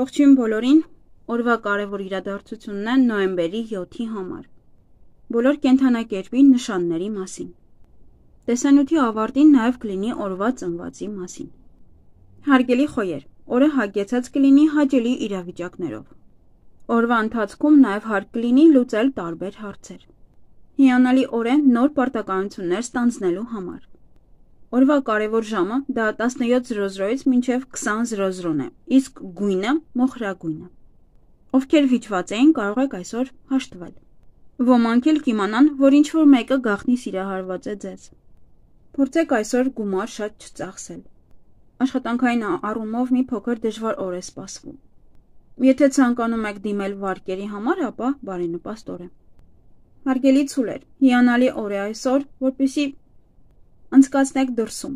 Ողջույն բոլորին, օրվա կարևոր իրադարձությունն է նոյեմբերի 7-ի համար։ Բոլոր կենդանակերպի նշանների մասին։ Տեսանյութի ավարտին նաև կլինի օրվա ծնվածի մասին։ Հարգելի խոյեր, օրը հագեցած կլինի հաճելի իրավիճակներով։ Օրվա ընթացքում նաև հարկ կլինի լուծել տարբեր հարցեր։ Հիանալի օր է նոր պարտականություններ ստանձնելու համար։ Օրվա կարևոր ժամը դա 17:00-ից մինչև 20:00 է, իսկ գույնը մոխրագույնը։ Ովքեր վիճված էին, կարող եք այսօր հաշտվել։ Ոմանք էլ կիմանան, որ ինչ-որ մեկը գաղտնի սիրահարված է ձեզ։ Փորձեք այսօր գումար շատ չծախսել։ Աշխատանքային առումով մի փոքր դժվար օր է սպասվում։ Եթե ցանկանում եք դիմել վարկերի համար, ապա բարենպաստ օր է։ Հարգելի ցուլեր, հիանալի օր է այսօր, որպեսզի անցկացնեք դրսում,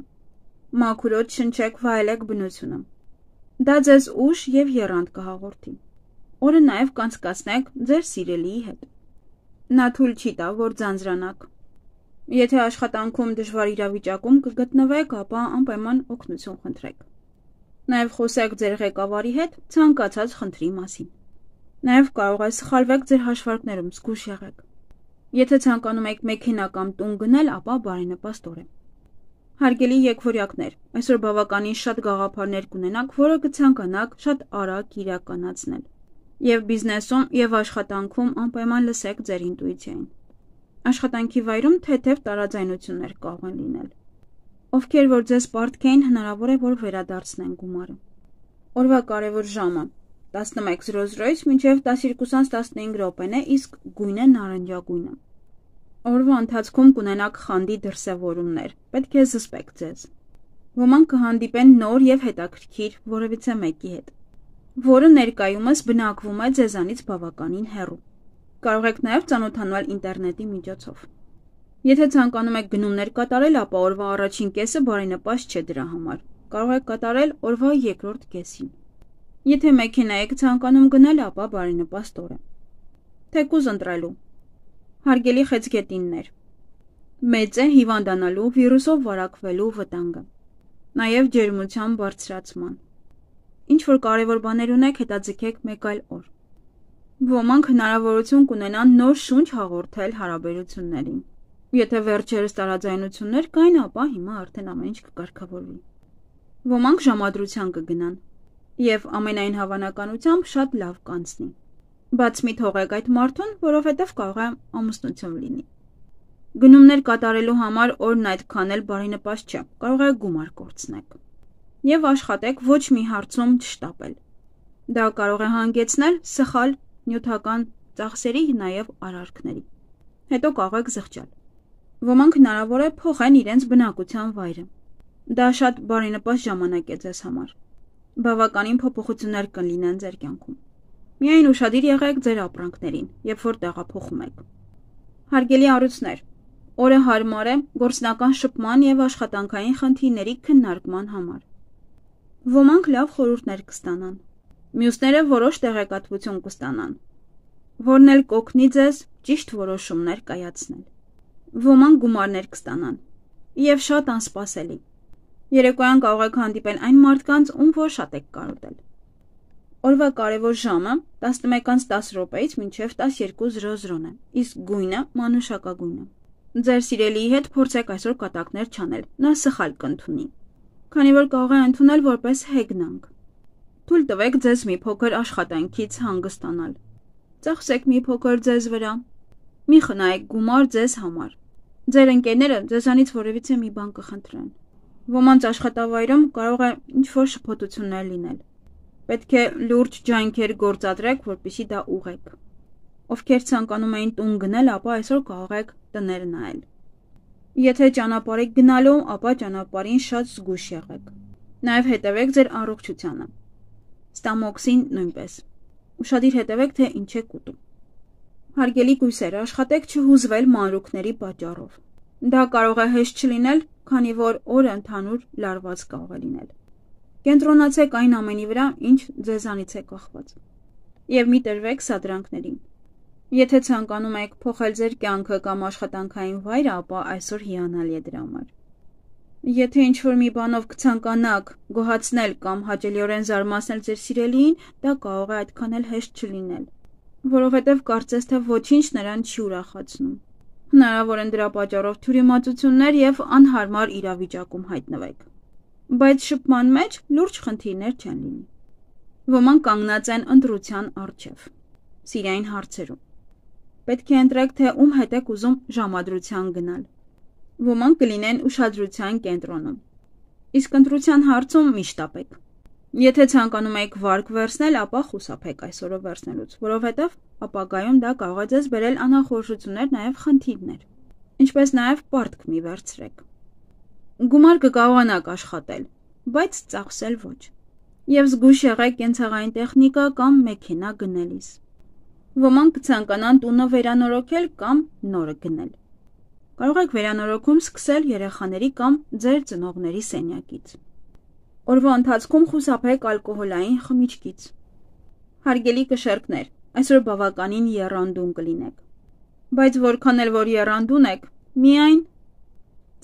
մաքուրոտ շնչեք, վայելեք բնությունը։ Դա ձեզ ուժ և եռանդ կհաղորդի։ Օրը նաև կանցկացնեք ձեր սիրելիի հետ։ Նա թույլ չի տա, որ ձանձրանաք։ Եթե աշխատանքում դժվար իրավիճակում կգտնվեք, ապա անպայման օգնություն խնդրեք։ Նաև խոսեք ձեր ղեկավարի հետ ցանկացած խնդրի մասին։ Նաև կարող է սխալվեք ձեր հաշվարկներում, զգույշ եղեք։ Եթե ցանկանում եք մեքենա կամ տուն գնել, ապա բարենպաստ օր է։ Հարգելի եկվորյակներ, այսօր բավականին շատ գաղափարներ կունենաք, որը կցանկանաք շատ արագ իրականացնել։ Եվ բիզնեսում, և աշխատանքում անպայման լսեք ձեր ինտուիցիային։ Աշխատանքի վայրում թեթև տարաձայնություններ կարող են լինել։ Ովքեր որ ձեզ պարտքեին, հնարավոր է, որ վերադարձնեն գումարը։ Օրվա կարևոր ժամը 11:00-ից մինչև 12:15 է, իսկ գույնը նարնջագույնը։ Օրվա ընթացքում կունենաք խանդի դրսևորումներ, պետք է զսպեք ձեզ։ Ոմանք կհանդիպեն նոր և հետաքրքիր որևիցե մեկի հետ, որը ներկայումս բնակվում է ձեզանից բավականին հեռու։ Կարող եք նաև ծանոթանալ ինտերնետի միջոցով։ Եթե ցանկանում եք գնումներ կատարել, ապա օրվա առաջին կեսը բարենպաստ չէ դրա համար։ Կարող եք կատարել օրվա երկրորդ կեսին։ Եթե մեքենա եք ցանկանում գնել, ապա բարենպաստ օր է։ Թեկուզ ընտրելու։ Հարգելի խեցգետիններ, մեծ է հիվանդանալու, վիրուսով վարակվելու վտանգը, նաև ջերմության բարձրացման։ Ինչ-որ կարևոր բաներ ունեք, հետաձգեք մեկ այլ օր։ Ոմանք հնարավորություն կունենան նոր շունչ հաղորդել հարաբերություններին։ Եթե վերջերս տարաձայնություններ կային, ապա հիմա արդեն ամեն ինչ կկարգավորվի։ Ոմանք ժամադրության կգնան, և ամենայն հավանականությամբ շատ լավ կանցնի։ Բաց մի թողեք այդ մարդուն, որովհետև կարող է ամուսնություն լինի։ Գնումներ կատարելու համար օրն այդքան էլ բարենպաստ չէ, կարող է գումար կորցնեք։ Եվ աշխատեք ոչ մի հարցում չշտապել։ Դա կարող է հանգեցնել սխալ նյութական ծախսերի, նաև արարքների։ Հետո կարող եք զղջալ։ Ոմանք հնարավոր է փոխեն իրենց բնակության վայրը։ Դա շատ բարենպաստ ժամանակ է ձեզ համար։ Բավականին փոփոխություններ կլինեն ձեր կյանքում։ Միայն ուշադիր եղեք ձեր ապրանքներին, երբ որ տեղափոխում եք։ Հարգելի առույցներ, օրը հարմար է գործնական շփման և աշխատանքային խնդիրների քննարկման համար։ Ոմանք լավ խորհուրդներ կստանան, մյուսները որոշ տեղեկատվություն կստանան, որն էլ կօգնի ձեզ ճիշտ որոշումներ կայացնել։ Ոմանք գումարներ կստանան և շատ անսպասելի։ Երեկոյան կարող եք հանդիպել այն մարդկանց, ում որ շատ եք կարոտել։ Օրվա կարևոր ժամը 11:10-ից մինչև 12:00 է, իսկ գույնը մանուշակագույնը։ Ձեր սիրելիի հետ փորձեք այսօր կատակներ չանել, նա սխալ կընդունի, քանի որ կարող է ընդունել որպես հեգնանք։ Թույլ տվեք ձեզ մի փոքր աշխատանքից հանգստանալ։ Ծախսեք մի փոքր ձեզ վրա։ Մի խնայեք գումար ձեզ համար։ Ձեր ընկերները ձեզանից որևիցե մի բան կխնդրեն։ Ոմանց աշխատավայրում կարող է ինչ-որ շփոթություններ լինել։ Պետք է լուրջ ջանքեր գործադրեք, որպեսզի դա ուղղեք։ Ովքեր ցանկանում էին տուն գնել, ապա այսօր կարող եք տներ նայել։ Եթե ճանապարհ եք գնալու, ապա ճանապարհին շատ զգույշ եղեք։ Նաև հետևեք ձեր առողջությանը։ Ստամոքսին նույնպես։ Ուշադիր հետևեք, թե ինչ եք ուտում։ Հարգելի կույսեր, աշխատեք չհուզվել մանրուքների պատճառով։ Դա կարող է հեշտ չլինել, քանի որ օրը ընդհանուր լարված կարող է լինել։ Կենտրոնացեք այն ամենի վրա, ինչ ձեզանից է կախված։ Եվ մի տրվեք սադրանքներին։ Եթե ցանկանում եք փոխել ձեր կյանքը կամ աշխատանքային վայրը, ապա այսօր հիանալի է դրա համար։ Եթե ինչ-որ մի բանով կցանկանաք գոհացնել կամ հաճելիորեն զարմացնել ձեր սիրելիին, դա կարող է այդքան էլ հեշտ չլինել, որովհետև կարծես թե ոչինչ նրան չի ուրախացնում։ Հնարավոր են դրա պատճառով թյուրիմացություններ և անհարմար իրավիճակում հայտնվեք։ Բայց շփման մեջ լուրջ խնդիրներ չեն լինի։ Ոմանք կանգնած են ընտրության առջև, սիրային հարցերում։ Պետք է ընտրեք, թե ում հետ եք ուզում ժամադրության գնալ։ Ոմանք կլինեն ուշադրության կենտրոնում։ Իսկ ընտրության հարցում մի շտապեք։ Եթե ցանկանում եք վարկ վերցնել, ապա խուսափեք այսօրը վերցնելուց, որովհետև ապագայում դա կարող է ձեզ բերել անախորժություններ, նաև խնդիրներ, ինչպես նաև պարտք մի վերցրեք։ Գումար կկարողանաք աշխատել, բայց ծախսել ոչ։ Եվ զգույշ եղեք կենցաղային տեխնիկա կամ մեքենա գնելիս։ Ոմանք կցանկանան տունը վերանորոգել կամ նորը գնել։ Կարող եք վերանորոգում սկսել երեխաների կամ ձեր ծնողների սենյակից։ Օրվա ընթացքում խուսափեք ալկոհոլային խմիչքից։ Հարգելի կշեռքներ, այսօր բավականին եռանդուն կլինեք։ Բայց որքան էլ որ եռանդուն եք, միայն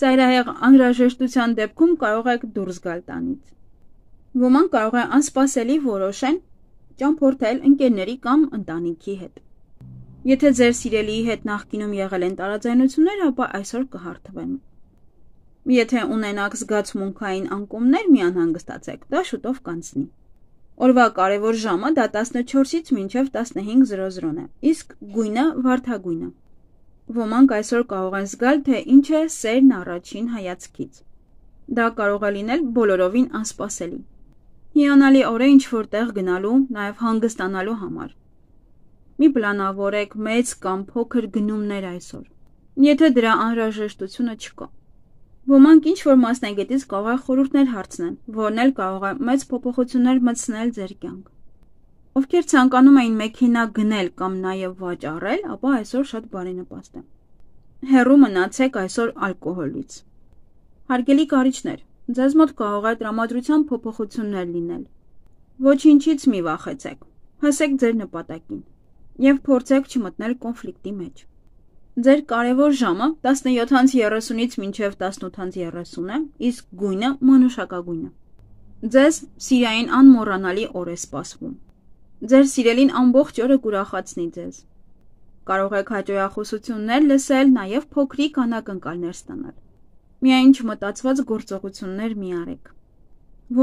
ծայրահեղ անհրաժեշտության դեպքում կարող եք դուրս գալ տանից։ Ոմանք կարող է անսպասելի որոշեն ճամփորդել ընկերների կամ ընտանիքի հետ։ Եթե ձեր սիրելիի հետ նախկինում եղել են տարաձայնություններ, ապա այսօր կհարթվեն։ Եթե ունենաք զգացմունքային անկումներ, մի անհանգստացեք, դա շուտով կանցնի։ Օրվա կարևոր ժամը դա 14-ից մինչև 15:00 է, իսկ գույնը վարդագույնը։ Ոմանք այսօր կարող են զգալ, թե ինչ է սերն առաջին հայացքից։ Դա կարող է լինել բոլորովին անսպասելի։ Հիանալի օր է ինչ-որ տեղ գնալու, նաև հանգստանալու համար։ Մի պլանավորեք մեծ կամ փոքր գնումներ այսօր, եթե դրա անհրաժեշտությունը չկա։ Ոմանք ինչ-որ մասնագետից կարող է խորհուրդներ հարցնեն, որն էլ կարող է մեծ փոփոխություններ մտցնել ձեր կյանք։ Ովքեր ցանկանում էին մեքենա գնել կամ նաև վաճառել, ապա այսօր շատ բարենպաստ է։ Հեռու մնացեք այսօր ալկոհոլից։ Հարգելի կարիճներ, ձեզ մոտ կարող է տրամադրության փոփոխություններ լինել։ Ոչինչից մի վախեցեք, հասեք ձեր նպատակին և փորձեք չմտնել կոնֆլիկտի մեջ։ Ձեր կարևոր ժամը 17:30-ից մինչև 18:30 է, իսկ գույնը մանուշակագույնը։ Ձեզ սիրային անմոռանալի օր է սպասվում։ Ձեր սիրելին ամբողջ օրը կուրախացնի ձեզ։ Կարող եք հաճոյախոսություններ լսել, նաև փոքրիկ անակնկալներ ստանալ։ Միայն չմտածված գործողություններ մի արեք։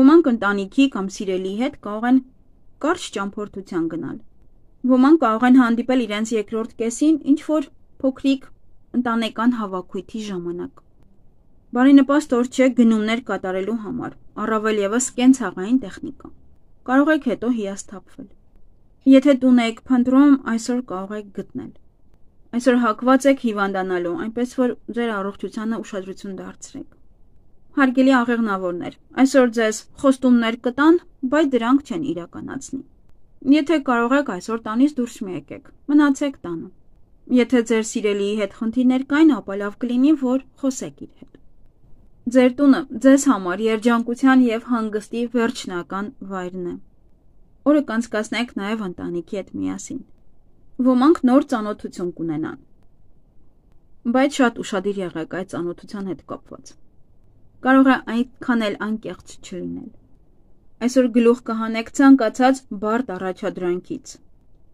Ոմանք ընտանիքի կամ սիրելիի հետ կարող են կարճ ճամփորդության գնալ։ Ոմանք կարող են հանդիպել իրենց երկրորդ կեսին ինչ-որ փոքրիկ ընտանեկան հավաքույթի ժամանակ։ Բարենպաստ օր չէ գնումներ կատարելու համար, առավել ևս կենցաղային տեխնիկա։ Կարող եք հետո հիասթափվել։ Եթե տուն եք փնտրում, այսօր կարող եք գտնել։ Այսօր հակված եք հիվանդանալու, այնպես որ ձեր առողջությանը ուշադրություն դարձրեք։ Հարգելի աղեղնավորներ, այսօր ձեզ խոստումներ կտան, բայց դրանք չեն իրականացնի։ Եթե կարող եք այսօր տանից դուրս մի եկեք, մնացեք տանը։ Եթե ձեր սիրելիի հետ խնդիրներ կային, ապա լավ կլինի, որ խոսեք իր հետ։ Ձեր տունը ձեզ համար երջանկության և հանգստի վերջնական վայրն է։ Օրը կանցկացնեք նաև ընտանիքի հետ միասին։ Ոմանք նոր ծանոթություն կունենան, բայց շատ ուշադիր եղեք այդ ծանոթության հետ կապված։ Կարող է այդքան էլ անկեղծ չլինել։ Այսօր գլուխ կհանեք ցանկացած բարդ առաջադրանքից,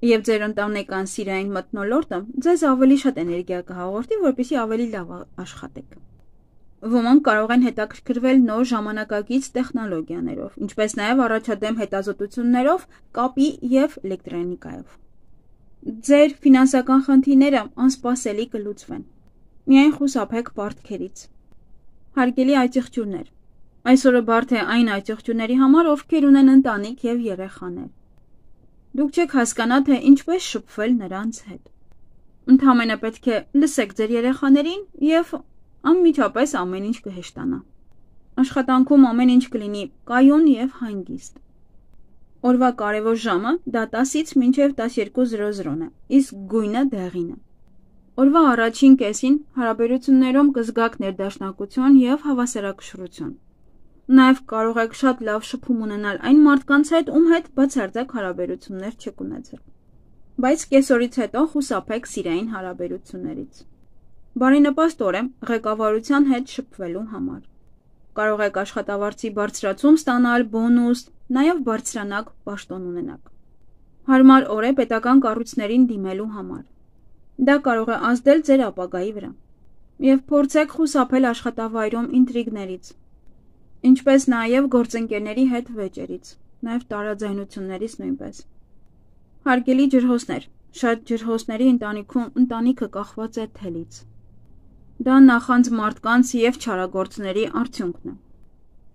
և ձեր ընտանեկան սիրային մթնոլորտը ձեզ ավելի շատ էներգիա կհաղորդի, որպեսզի ավելի լավ աշխատեք։ Ոմանք կարող են հետաքրքրվել նոր ժամանակակից տեխնոլոգիաներով, ինչպես նաև առաջադեմ հետազոտություններով, կապի և էլեկտրոնիկայով։ Ձեր ֆինանսական խնդիրները անսպասելի կլուծվեն։ Միայն խուսափեք պարտքերից։ Հարգելի այծեղջյուրներ, այսօրը բարդ է այն այծեղջյուրների համար, ովքեր ունեն ընտանիք և երեխաներ։ Դուք չեք հասկանա, թե ինչպես շփվել նրանց հետ։ Ընդամենը պետք է լսեք ձեր երեխաներին և անմիջապես ամեն ինչ կհեշտանա։ Աշխատանքում ամեն ինչ կլինի կայուն և հանգիստ։ Օրվա կարևոր ժամը դա 10-ից մինչև 12:00 է, իսկ գույնը դեղինը։ Օրվա առաջին կեսին հարաբերություններում կզգաք ներդաշնակություն և հավասարակշռություն։ Նաև կարող եք շատ լավ շփում ունենալ այն մարդկանց հետ, ում հետ բացարձակ հարաբերություններ չեք ունեցել։ Բայց կեսօրից հետո խուսափեք սիրային հարաբերություններից։ Բարենպաստ օր է ղեկավարության հետ շփվելու համար։ կարող եք աշխատավարձի բարձրացում ստանալ, բոնուս, նաև բարձրանակ պաշտոն ունենաք։ Հարմար օր է պետական կառույցներին դիմելու համար։ Դա կարող է ազդել ձեր ապագայի վրա։ Եվ փորձեք խուսափել աշխատավայրում ինտրիգներից, ինչպես նաև գործընկերների հետ վեճերից, նաև տարաձայնություններից նույնպես։ Հարգելի ջրհոսներ, շատ ջրհոսների ընտանիքը կախված է թելից։ Դա նախանձ մարդկանց և չարագործների արդյունքն է։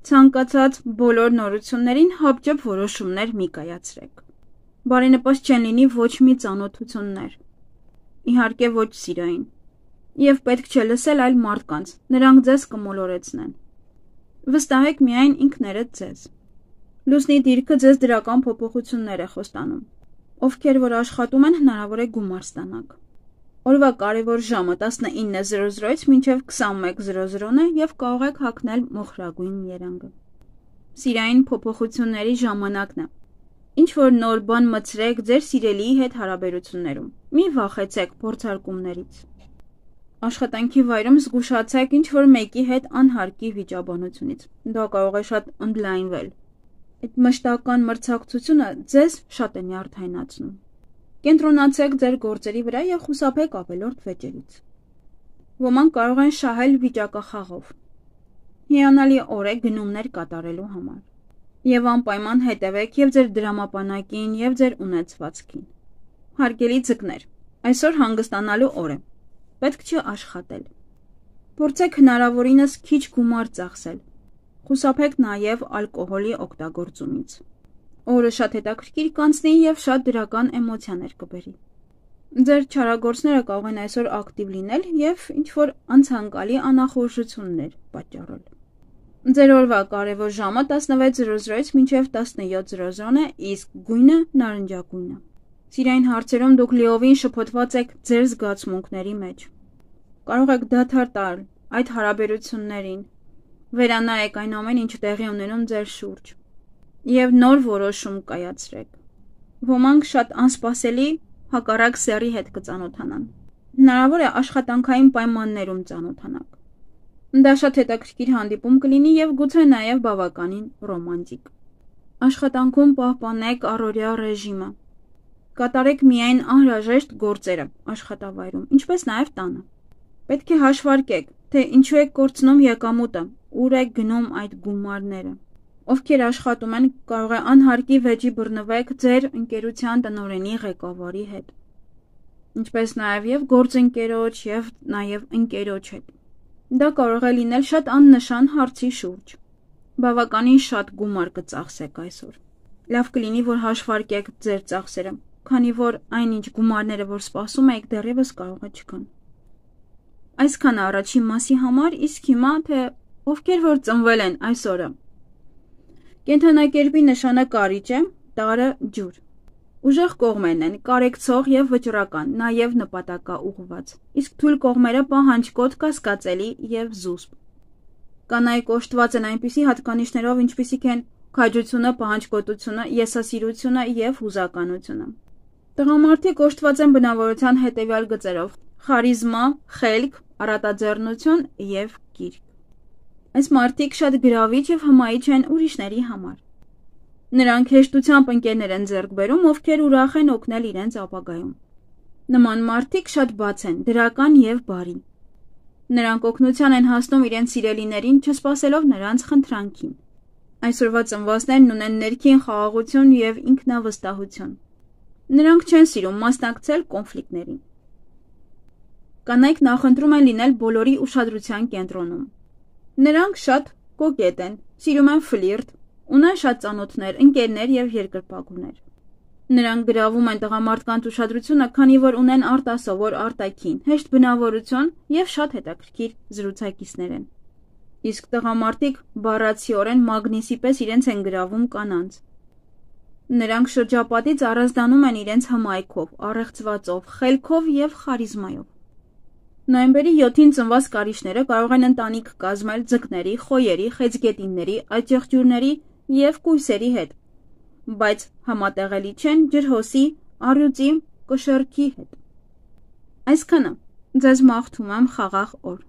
Ցանկացած բոլոր նորություններին հապճեպ որոշումներ մի կայացրեք։ Բարենպաստ չեն լինի ոչ մի ծանոթություններ, իհարկե ոչ սիրային, և պետք չէ լսել այլ մարդկանց, նրանք ձեզ կմոլորեցնեն։ Վստահեք միայն ինքներդ ձեզ։ Լուսնի դիրքը ձեզ դրական փոփոխություններ է խոստանում։ Ովքեր որ աշխատում են, հնարավոր է գումար ստանաք։ Օրվա կարևոր ժամը 19:00-ից մինչև 21:00 է և կարող եք հագնել մոխրագույն երանգը։ Սիրային փոփոխությունների ժամանակն է։ Ինչ-որ նոր բան մտցրեք ձեր սիրելիի հետ հարաբերություններում։ Մի վախեցեք փորձարկումներից։ Աշխատանքի վայրում զգուշացեք ինչ-որ մեկի հետ անհարկի վիճաբանությունից։ Դա կարող է շատ ընդլայնվել։ Այդ մշտական մրցակցությունը ձեզ շատ է նյարդայնացնում։ Կենտրոնացեք ձեր գործերի վրա և խուսափեք ավելորդ վեճերից։ Ոմանք կարող են շահել վիճակախաղով։ Հիանալի օր է գնումներ կատարելու համար։ Եվ անպայման հետևեք և ձեր դրամապանակին, և ձեր ունեցվածքին։ Հարգելի ձկներ, այսօր հանգստանալու օր է։ Պետք չի աշխատել։ Փորձեք հնարավորինս քիչ գումար ծախսել։ Խուսափեք նաև ալկոհոլի օգտագործումից։ Օրը շատ հետաքրքիր կանցնի և շատ դրական էմոցիաներ կբերի։ Ձեր չարագործները կարող են այսօր ակտիվ լինել և ինչ-որ անցանկալի անախորժություններ պատճառել։ Ձեր օրվա կարևոր ժամը 16:00-ից մինչև 17:00 է, իսկ գույնը նարնջագույն է։ Սիրային հարցերում դուք լիովին շփոթված եք ձեր զգացմունքների մեջ։ Կարող եք դադար տալ այդ հարաբերություններին, վերանայեք այն ամեն ինչ տեղի ունենում ձեր շուրջ և նոր որոշում կայացրեք։ Ոմանք շատ անսպասելի հակառակ սեռի հետ կծանոթանան։ Հնարավոր է աշխատանքային պայմաններում ծանոթանաք։ Դա շատ հետաքրքիր հանդիպում կլինի և գուցե նաև բավականին ռոմանտիկ։ Աշխատանքում պահպանեք առօրյա ռեժիմը։ Կատարեք միայն անհրաժեշտ գործերը աշխատավայրում, ինչպես նաև տանը։ Պետք է հաշվարկեք, թե ինչու եք կորցնում եկամուտը, ուր եք գնում այդ գումարները։ Ովքեր աշխատում են, կարող է անհարկի վեճի բռնվեք ձեր ընկերության տնօրենի ղեկավարի հետ, ինչպես նաև գործընկերոջ և նաև ընկերոջ հետ։ Դա կարող է լինել շատ աննշան հարցի շուրջ։ Բավականին շատ գումար կծախսեք այսօր։ Լավ կլինի, որ հաշվարկեք ձեր ծախսերը, քանի որ այնինչ գումարները, որ սպասում եք, դեռևս կարող է չկան։ Այսքանը առաջին մասի համար, իսկ հիմա թե ովքեր որ ծնվել են այս օրը։ Կենդանակերպի նշանը կարիճ է, տարը ջուր։ Ուժեղ կողմերն են կարեկցող և վճռական, նաև նպատակաուղղված, իսկ թույլ կողմերը պահանջկոտ, կասկածելի և զուսպ։ Կանայք օժտված են այնպիսի հատկանիշներով, ինչպիսիք են քաջությունը, պահանջկոտությունը, եսասիրությունը և հուզականությունը։ Տղամարդիկ օժտված են բնավորության հետևյալ գծերով՝ խարիզմա, խելք, առատաձեռնություն և կիրք։ Այս մարդիկ շատ գրավիչ և հմայիչ են ուրիշների համար։ Նրանք հեշտությամբ ընկերներ են ձեռք բերում, ովքեր ուրախ են օգնել իրենց ապագայում։ Նման մարդիկ շատ բաց են, դրական և բարի։ Նրանք օգնության են հասնում իրենց սիրելիներին, չսպասելով նրանց խնդրանքին։ Այսօրվա ծնվածներն ունեն ներքին խաղաղություն և ինքնավստահություն։ Նրանք չեն սիրում մասնակցել կոնֆլիկտներին։ Կանայք նախընտրում են լինել բոլորի ուշադրության կենտրոնում։ Նրանք շատ կոկետ են, սիրում են ֆլիրտ, ունեն շատ ծանոթներ, ընկերներ և երկրպագուներ։ Նրանք գրավում են տղամարդկանց ուշադրությունը, քանի որ ունեն արտասովոր արտաքին, հեշտ բնավորություն և շատ հետաքրքիր զրուցակիցներ են։ Իսկ տղամարդիկ բառացիորեն մագնիսի պես իրենց են գրավում կանանց։ Նրանք շրջապատից առանձնանում են իրենց հմայքով, առեղծվածով, խելքով և խարիզմայով։ Նոյեմբերի 7-ին ծնված կարիճները կարող են ընտանիք կազմել ձկների, խոյերի, խեցգետինների, աճեղջյուրների և կույսերի հետ, բայց համատեղելի չեն ջրհոսի, առյուծի, կշեռքի հետ։ Այսքանը, ձեզ մաղթում եմ խաղաղ օր։